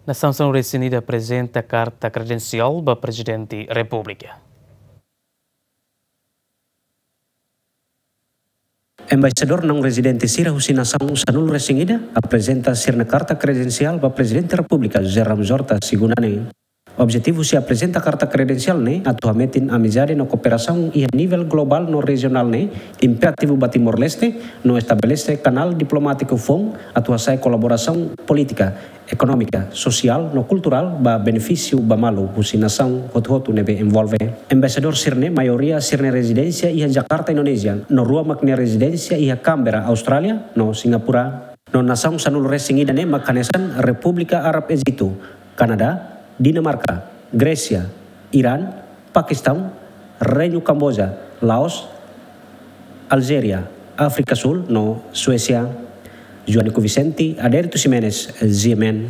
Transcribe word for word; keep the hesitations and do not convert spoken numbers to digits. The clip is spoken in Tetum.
Nasaun sanulu-resin-ida aprezenta karta kredensiál ba Prezidente Repúblika. Embaixadór naun-rezidente sira husi nasaun sanulu-resin-ida aprezenta sira-nia karta kredensiál ba Prezidente Repúblika José Ramos Horta, segunda ne'e. Objetivu husi aprezenta karta kredensiál ne'e atu hametin amizade no kooperasaun iha nivel globál no rejionál ne'e imperativu ba Timor-Leste, no estabelese kanál diplomátiku foun atu hasa'e kolaborasaun polítika, ekonómika, sosiál no kulturál ba benefísiu ba malu husi nasaun hotu-hotu ne'ebé envolve. Embaixadór sira-ne'e maioria sira-nia rezidénsia iha Jakarta, Indonézia, no rua mak nia rezidénsia iha Canberra, Austrália, no Singapura. No nasaun sanulu-resin-ida ne'e mak hanesan Repúblika Árab Ejitu, Kanadá, Dinamarka, Grésia, Irán, Pakistaun, Reinu Kamboja, Laos, Aljéria, Áfrika Súl no Suésia. Joanico Vicente, Adérito Ximenes, G M N.